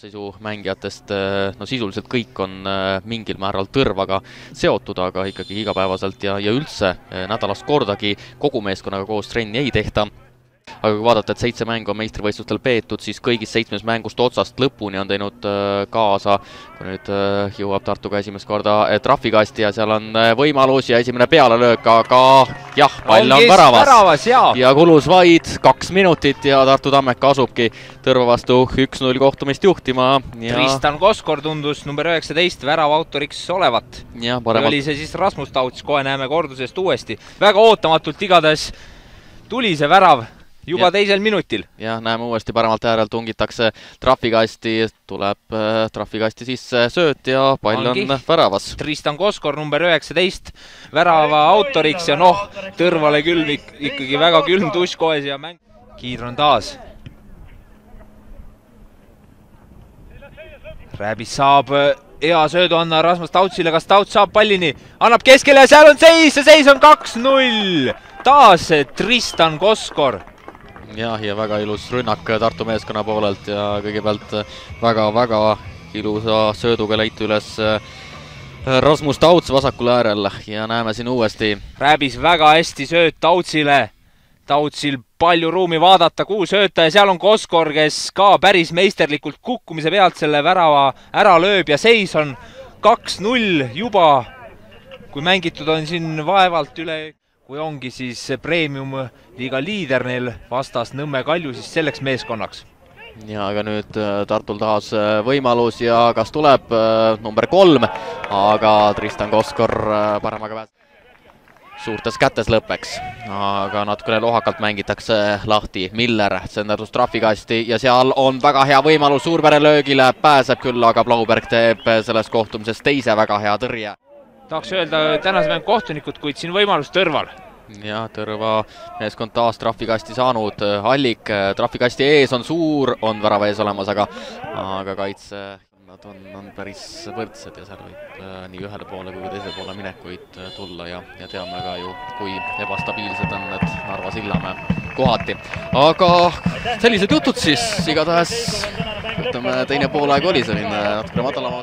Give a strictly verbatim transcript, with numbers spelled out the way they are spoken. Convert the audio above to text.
koosseisu mängijatest no sisuliselt kõik on mingil määral tõrvaga seotud, aga ikkagi igapäevaselt ja, ja üldse nädalast kordagi kogu meeskonnaga koos trenni ei tehta. Aga kui vaadata, et seitse mängu on meistrivõistlustel peetud, siis kõigis seitsmes mängust otsast lõpuni on teinud kaasa, kui nüüd jõuab Tartuga esimest korda trahvikasti ja seal on võimalus ja esimene pealelöök, aga jah, pall on väravas, väravas ja. ja kulus vaid kaks minutit ja Tartu Tammeka asubki Tõrva vastu üks null kohtumist juhtima. Ja... Tristan Koskor tundus number üheksateist värava autoriks olevat. Ja, paremat... oli see siis Rasmus Tauts, kohe näeme kordusest uuesti. Väga ootamatult igatahes tuli see värav juba ja. teisel minutil. Ja näeme uuesti paremalt äärelt tungitakse trahvikasti, tuleb äh, trahvikasti sisse sööt ja pall Angi. on väravas. Tristan Koskor number üheksateist värava autoriks ja noh, Tõrvale külm ikkagi väga külm tuš kohes ja mäng. Kiidron taas. Rääbis saab hea söödu anna Rasmus Tautsile, kas Tauts saab pallini, annab keskele ja seal on seis ja seis on kaks null. Taas Tristan Koskor. Jah, ja väga ilus rünnak Tartu meeskonna poolelt ja kõigepealt väga-väga ilusa sööduga leiti üles Rasmus Tauts vasakul äärel ja näeme siin uuesti. Rääbis väga hästi sööt Tautsile. Tautsil palju ruumi vaadata, kuhu sööta ja seal on Koskor, kes ka päris meisterlikult kukkumise pealt selle värava ära lööb ja seis on kaks null juba, kui mängitud on siin vaevalt üle... Kui ongi siis premium liiga liider neil vastas Nõmme Kalju siis selleks meeskonnaks. Ja aga nüüd Tartul taas võimalus ja kas tuleb number kolm, aga Tristan Koskor paremaga pääs. Suurtes kätes lõppeks, aga natukene lohakalt mängitakse lahti. Miller senderdus trahvikasti ja seal on väga hea võimalus Suurpere löögile, pääseb küll, aga Blauberg teeb selles kohtumises teise väga hea tõrje. Tahaks öelda tänase mäng kohtunikud, kuid siin võimalus Tõrval. Ja Tõrva meeskond taas trahvikasti saanud. Allik trahvikasti ees on suur, on värava ees olemas, aga, aga kaitse nad on, on päris võrdsed ja seal võib nii ühele poole kui teisele poole minekuid tulla ja, ja teame ka ju, kui ebastabiilsed on need Narva Sillamäe kohati. Aga sellised jutud siis igatahes, ütleme, teine poolaeg oli selline natukene madalama